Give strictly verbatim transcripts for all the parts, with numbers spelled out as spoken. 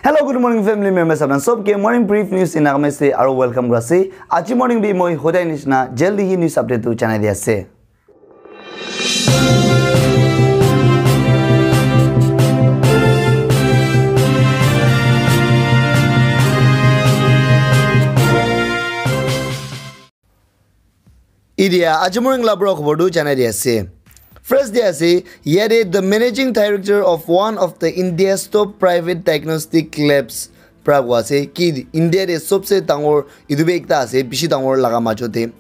Hello, good morning, family members. Apna sob ke morning brief news in Nagamese aro welcome kura ase. Aji morning bi moi hodai nishina jaldi hi news update tu janai di ase. Idia aji morning la pura khobor tu janai di ase. First de ase, yate the managing director of one of the India's top private diagnostic labs pra koa ase ki India de sobse dangor, etu bi ekta ase bishi dangor laga majo de.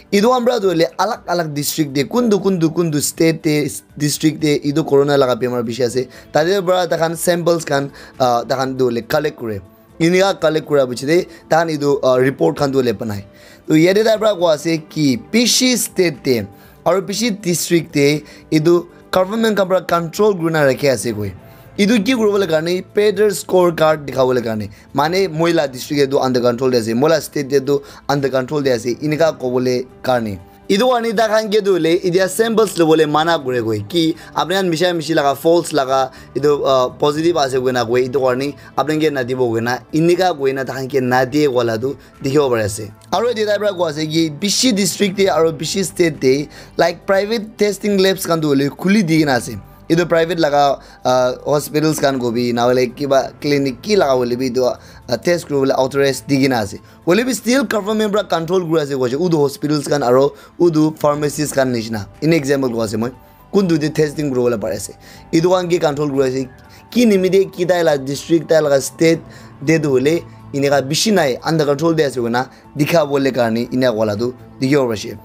Etu khan pra tu hoile alag alag district de kuntu kuntu kuntu state de, district de etu corona laga bemar bishi ase, tate pra takhan samples khan, ah, takhan tu hoile collect kure. Enika collect kura piche de takhan etu, ah, report khan tu hoile banai. To yate tai pra koa ase ki bishi state de aro bishi district de etu government khan pra control kurina rakhi ase koi. Etu ki kuribole karne better score card dikhabole karne, mane moi la district de tu under control de ase, moi la state de tu under control de ase, enika kobole karne. Etu karne takhan ke tu hoile etia samples lobole mana kure koi ki apni khan misha mishi laga false laga etu, ah, positive ase koina koi, etu karne apni khan ke nadibo koina, enika koina takhan ke nadie koa la tu dikhibo pari ase. Aro etia tai pra koa ase ki bishi district de aro bishi state de, like, private testing labs khan tu hoile khuli di kena ase. Etu private laga, ah, hospitals khan kobi na hoile kiba clinic ki laga hoile bi etu, ah, test kuribole authorize di kena ase. Hoile bi still government pra control kuri ase koa ase, utu hospitals khan aro utu pharmacies khan nishina. In example koa ase moi. Kuntu de testing kuribole pari ase. Etu khan ke control kuri ase. Ki nimite ki tai la district, tai laga state de tu hoile enika bishi nai, under control de ase koina dikhabole karne enika koa la tu dikhibo pari ase.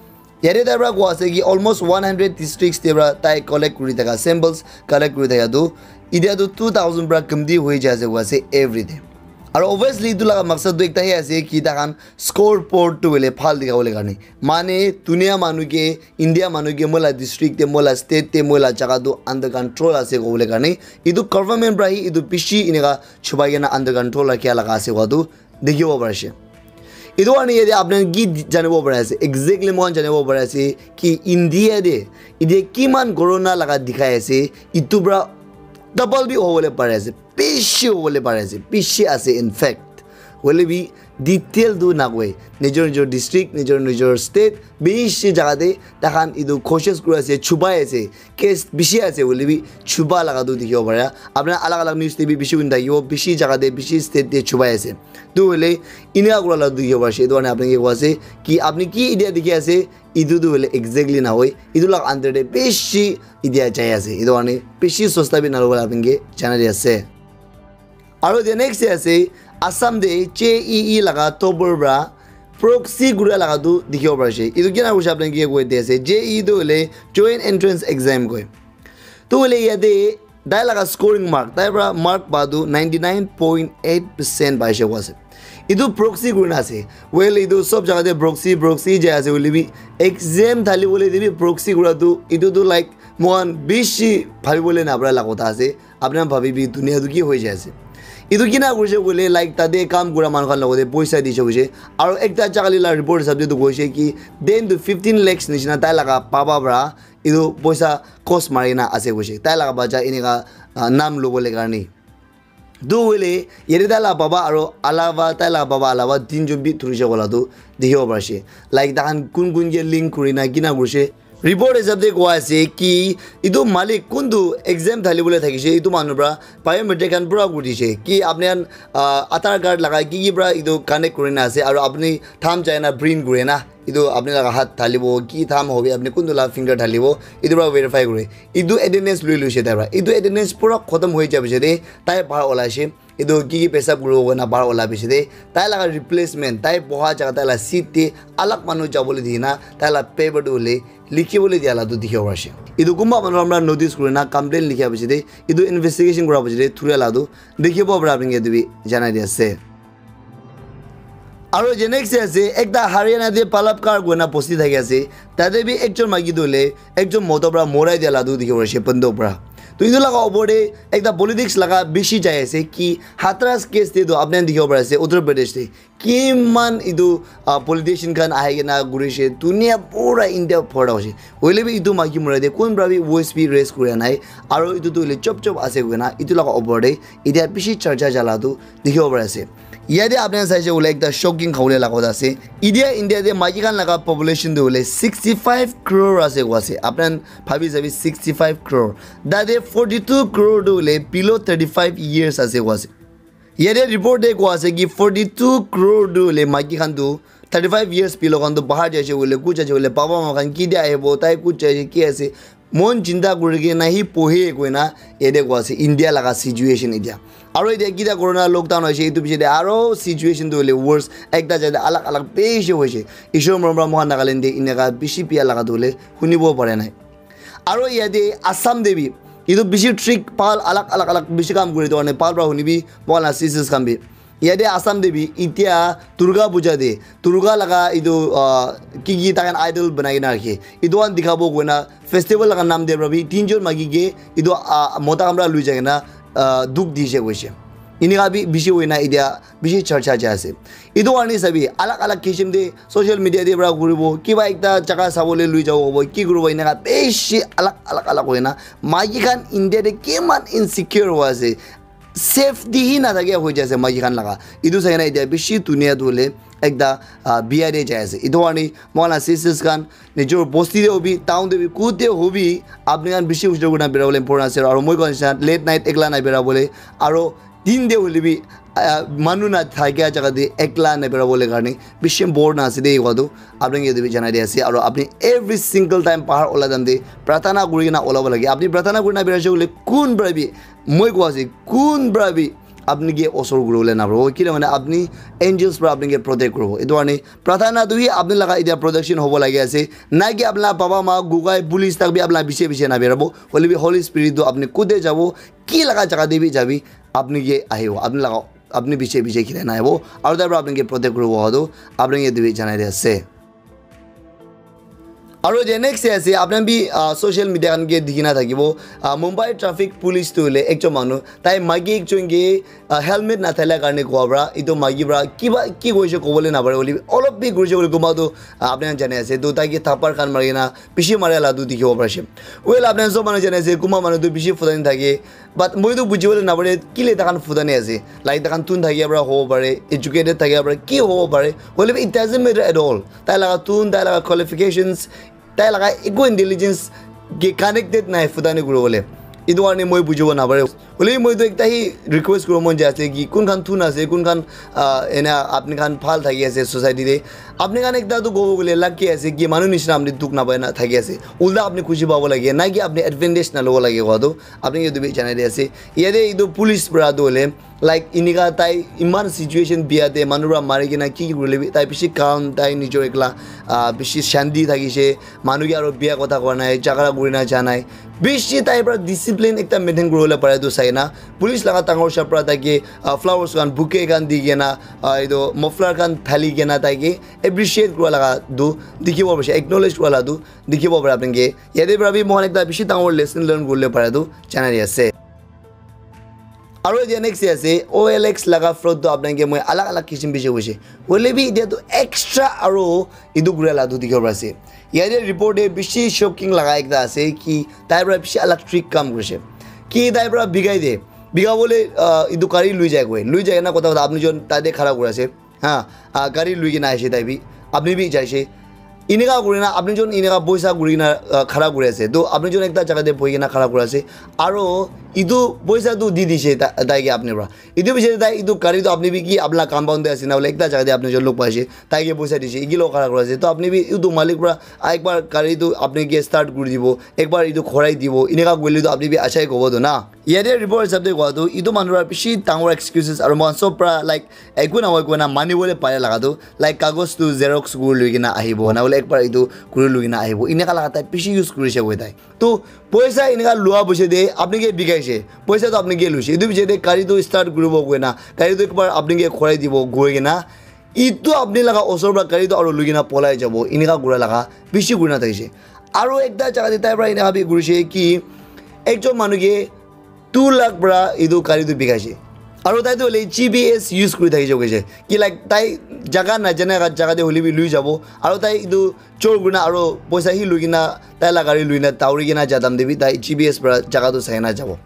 Yate tai pra koa ase ki almost one hundred districts de pra tai collect kuri thaka, samples collect kuri thaka tu etia tu two thousand pra kamti hoi jai ase koa ase every day. Aro obviously etu laga maksad tu ekta hi ase ki takhan scoreboard tu hoile bhal dikhabole karne. Mane dunia manu ke, India manu ke moi la district de, moi la state de, moi la jaga tu under control ase kobole karne. Etu government pra hi etu bishi enika chupai kena under control rakhiya laga ase koa tu dikhibo pari ase. Etu karne yate apni khan ki janibo pari ase? Exactly moi khan janibo pari ase ki India de etia kiman corona laga dikhai ase, etu pra double bi hobole pari ase, bishi hobole pari ase, bishi ase in fact. Hoile bi detail tu nakoi. Nijor nijor district, nijor nijor state, bishi jaga te takhan etu koshish kuri ase, chupai ase, case bishi ase hoile bi chupa laga tu dikhibo pare. Apni khan alag alag news te bi bishi huni thakibo, bishi jaga te, bishi state te chupai ase. Tu hoile enika kura la tu dikhibo pari ase. Etu karne apni khan ke koa ase ki apni ki etia dikhi ase, etu tu hoile exactly nahoi. Etu laga under te bishi etia jai ase. Etu karne bishi sosta bi nalobole apni khan ke janai di ase. Aro the next day ase, Assam de J E E laga topper pra proxy gura laga tu dikhibo pari ase. Etu kina koise apni khan ke koi di ase. J E E tu hoile Joint Entrance Exam koi. Tu hoile yate tai laga scoring mark, tai pra mark pa tu ninety nine point eight percent paise koa ase. Etu proxy kurina ase. Well, etu sob jaga te proxy, proxy jai ase hoile bi exam thali bole te bi proxy kura tu, etu tu, like, moikhan bishi bhabi bole napara laga kotha ase. Apni khan bhabi bi dunia tu ki hoi jai ase. Etu kina koise koile, like, tate kam kura manu khan logote poisa dise koise. Aro ekta chakali la report hisab te tu koise ki ten to fifteen lakhs nishina tai laga papa pra etu poisa cost mari na ase koise. Tai laga bacha enika, ah, nam lobole karne. Tu hoile yate tai laga papa aro alawa, tai laga papa alawa tinjon bi thurise koa la tu dikhibo pari ase. Like, takhan kun kun ke link kurina kina kurise. Report hisab te koa ase ki etu malik kuntu exam thali bole thakise, etu manu pra biometric khan pura kuri dise. Ki apni khan, ah, Aadhaar card laga ki ki pra etu connect kurina ase, aro apni thumb chai na print kure na, etu apni laga hath thalibo, ki thumb hobi, apni kuntu laga finger thalibo, etu pra verify kure. Etu attendance lui luise tai pra. Etu attendance pura khotom hoi jai piche te tai bahar olaise. Etu ki ki pesab kuribo koina bahar ola piche te, tai laga replacement, tai boha jaga tai laga seat te alag manu jabole dina, tai laga paper tu hoile likhi bole dia la tu dikhibo pari ase. Etu kunba manu para notice kurina complaint likhia piche te, etu investigation kura piche te thuria la tu dikhibo para apni khan ke etu bi janai di ase. Aro je next ase, ekta Haryana te Palabkar koina bosti thaki ase. Tate bi ekjon maiki tu hoile ekjon moto para morai dia la tu dikhibo pari ase, banduk para. To etu laga opor te ekta politics laga bishi jai ase ki Hathras case te to apni khan dikhibo pari ase Uttar Pradesh te kiman etu, ah, politician khan ahi kena gurishe, dunia pura India phorda hoise. Hoile bi etu maiki mura te kun pra bi voice bi raise kura nai. Aro etu tu hoile chop chop ase koina etu laga opor te etia bishi charcha jala tu dikhibo pari ase. Yate apni khan saishe koile ekta shocking khabole laga kotha ase. Etia India te maiki khan laga population tu hoile sixty five crore ase koa ase. Apni khan bhabi sabi sixty five crore. Tate forty two crore tu hoile below thirty five years ase koa ase. Yate report te koa ase ki forty two crore tu hoile maiki khan tu thirty five years below khan tu bahar jaise koile, kuch jaise koile, baba ma khan ki dia ahibo, tai kuch jaise, ki ase, mon chinta kuri kena hi pohe koina yate koa ase India laga situation etia. Aro etia kita corona lockdown hoise, etu piche te aro situation tu hoile worse, ekta jai te alag alag bishi hoise. Ishwar morom pra mohan Nagaland te eneka bishi bia laga tu hoile hunibo pare nai. Aro yate Assam te bi, etu bishi trick pal alag alag alag bishi kam kuri to ane pal pra huni bi, mohan la C Cs khan bi. Yate Assam te bi, itia Durga Puja te, Durga laga etu, ah, ki ki takan idol banai kena rakhe. Etu khan dikhabo koina festival laga naam te pra bi tinjon maiki ke etu, ah, mota khan pra lui jai kena, ah, dukh dise koise. Eneka bi bishi hoina etia bishi charcha jai ase. Etu karne sabi, alag alag kisim te social media te pra kuribo, kiba ekta jaga sabole lui jabo hobo, ki kuribo, eneka bishi alag alag alag hoina maiki khan India te kiman insecure hoi ase. Safety hi nathakia hoi jai ase maiki khan laga. Etu sai kena etia bishi dunia tu hoile ekta, ah, bia te jai ase. Etu karne mohan la C Cs khan nijor bosti te hobi, town te hobi, kut te hobi, apni khan bishi hujor kurina bera bole important ase. Aro moi koa nisina late night ekla na bera bole, aro din te hoile bi, ah, manu na thakia jaga te ekla na bera bole karne bishi important ase de koa tu apni ke etu bi janai di ase. Aro apni every single time bahar ola time te pratana kuri kena olabo lage. Apni pratana kurina bera ase koile kun pra bi, moi koa ase, kun pra bi apni ke osor kuri bole na paribo. Kile mane apni angels pra apni ke protect kuribo. Etu karne pratana tu hi apni laga etia protection hobo lage ase. Na ki apni laga baba ma, gugai, police tak bi apni laga piche piche na berabo. Hoile bi Holy Spirit tu apni kute jabo, ki laga jaga te bi jabi, apni ke ahibo. Apni laga, apni piche piche khilai na ahibo. Aro tai pra apni ke protect kuribo hotu apni ke etu bi janai di ase. Aro je next te ase, apni khan bi, ah, social media khan ke dikhi na thakibo. Ah, Mumbai traffic police tu hoile ekjon manu, tai maiki ekjon ke, ah, helmet na thaila karne koa pra, etu maiki pra kiba ki koise kobole na pare, hoile bi olop bi koise koile kunba tu, ah, apni khan jane ase, tu tai ke thapar khan mari kena bishi mara la tu dikhibo pari ase. Well, apni khan sob manu jane ase, kunba manu tu bishi futani thake, but moi tu buji bole na pare, kile takhan futani ase, like takhan tun thakia pra hobo pare, educated thakia pra ki hobo pare, hoile bi it doesn't matter at all. Tai laga tun, tai laga qualifications, tai laga eku intelligence ke connected nai futani kuri bole. Etu karne moi bujibo na pare. Hoile moi tu ekta hi request kuribo mon jai ase ki kun khan tun ase, kun khan, ah, ena apni khan bhal thaki ase society te. Apni khan ekta tu kobo gole lucky ase ki manu nisina apni dukh na pai na thaki ase. Ulta apni khushi pabo lage, na ki apni advantage na lobo lage koa tu apni ke etu bi janai di ase. Yate etu police pra tu hoile, like, enika tai iman situation bia te manu pra mari kena ki ki kurile bi tai bishi calm, tai nijor ekla, ah, bishi shanti thakise, manu ke aro bia kotha koa nai, jhagara kurina ja nai, bishi tai pra discipline ekta maintain kuribole pare tu sai na police laga dangor sap pra tai ke, ah, flowers khan, bouquet khan di kena, ah, etu muffler khan thali kena tai ke appreciate kura laga tu dikhibo pare, acknowledge kura la tu dikhibo pare apni ke. Yate pra bi mohan ekta bishi dangor lesson learn kuribole pare tu janai di ase. Aro etia next te ase, O L X laga fraud tu apni khan ke moi alag alag kisim bishi hoise. Hoile bi etia tu extra aro etu kura la tu dikhibo pari ase. Yate report te bishi shocking laga ekta ase ki tai pra bishi alag trick kam kurise. Ki tai pra bikai de. Bika bole, ah, etu gari lui jai koi. Lui jai na kotha kotha apni jon tate khara kuri ase. Ha, ah, gari lui kena aise tai bi. Apni bi jaise. Eneka kuri na apni jon eneka poisa kuri na, ah, khara kuri ase. To apni jon ekta jaga te bohi kena khara kuri ase. Aro etu poisa tu di dise ta-, tai ke apni pra. Etu piche tai etu gari tu apni bi ki apna compound te ase na bole ekta jaga te apni jon log paise. Tai ke poisa dise. Eki log khara kuri ase. To apni bi etu malik pra, ah, ekbar gari tu apni ke start kuri dibo. Ekbar etu khorai dibo. Eneka koile tu apni bi achai kobo to na. Yate report hisab te koa tu, etu manu para bishi dangor excuses aru moikhan sob para, like, eku nahoi koina mani bole pare laga tu, like, kagos tu xerox kuri lui kena ahibo, na hoile ekbar etu kuri lui kena ahibo, eneka laga tai bishi use kurise koi tai. Tu poisa eneka lua piche te apni ke bikaise, poisa tu apni ke luise, etu piche te gari tu start kuribo koina, gari tu ekbar apni ke khorai dibo koi kena, etu apni laga osor para gari tu aru lui kena polai jabo, eneka kura laga bishi kurina thakise. Aru ekta jaga te tai para eneka bi kurise ki, Ekjon manu ke two lakh para etu gari tu bikaise. Aru tai tu hoile G P S use kuri thakise koise. Ki like tai jaga najane jaga te hoile bi lui jabo. Aru tai etu chor kurina aru poisa hi lui kena tai la gari lui na dauri kena ja time te bi tai G P S para jaga tu sai na jabo.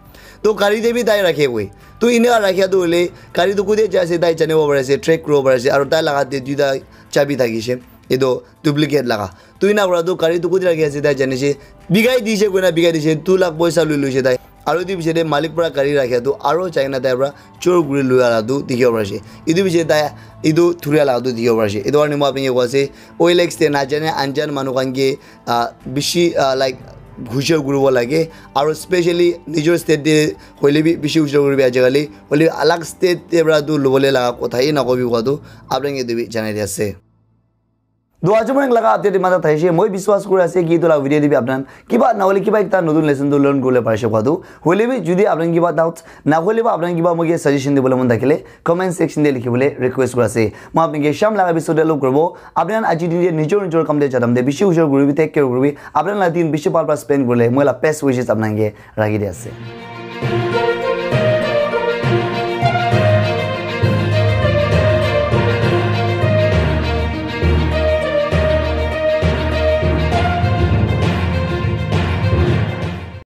To gari te bi tai rakhe koi. To eneka rakhia tu hoile gari tu kute jai ase tai janibo pari ase, track kuribo pari ase. Aru tai laga te duita chabi thakise. Etu duplicate laga. Tu ena para tu gari tu kute rakhi ase tai jani ase. Bikai dise koina bikai dise, two lakh poisa lui luise tai. Aru etu piche te malik para gari rakhia tu aru jai kena tai para chor kuri lua la tu dikhibo pari ase. Etu piche tai etu thuria la tu dikhibo pari ase. Etu karne moi apni ke koi ase, O L X te najane anjan manu khan ke ah, bishi ah, like hushar kuribo lage. Aru specially nijor state te hoile bi bishi hushar kuribi ajikali. Hoile bi alag state te para tu lobole laga kotha hi nakobi kowa tu apni ke etu bi janai di ase. To aji moi laga update mata thaise, moi biswas kuri ase ki etu la video te bi apnan kiba na hoile kiba ekta notun lesson tu learn kuribole parise kowa tu. Hoile bi jodi apnan kiba doubts na hoile ba apnan kiba moi ke suggestion dibole mon thakile comment section te likhibole request kuri ase. Moi apni ke sham laga episode te log kuribo. Apni khan aji din te nijor nijor kam te ja time te bishi hushar kuribi, take care kuribi. Apni khan la din bishi bhal para spend kurile moi la best wishes apni khan ke rakhi di ase.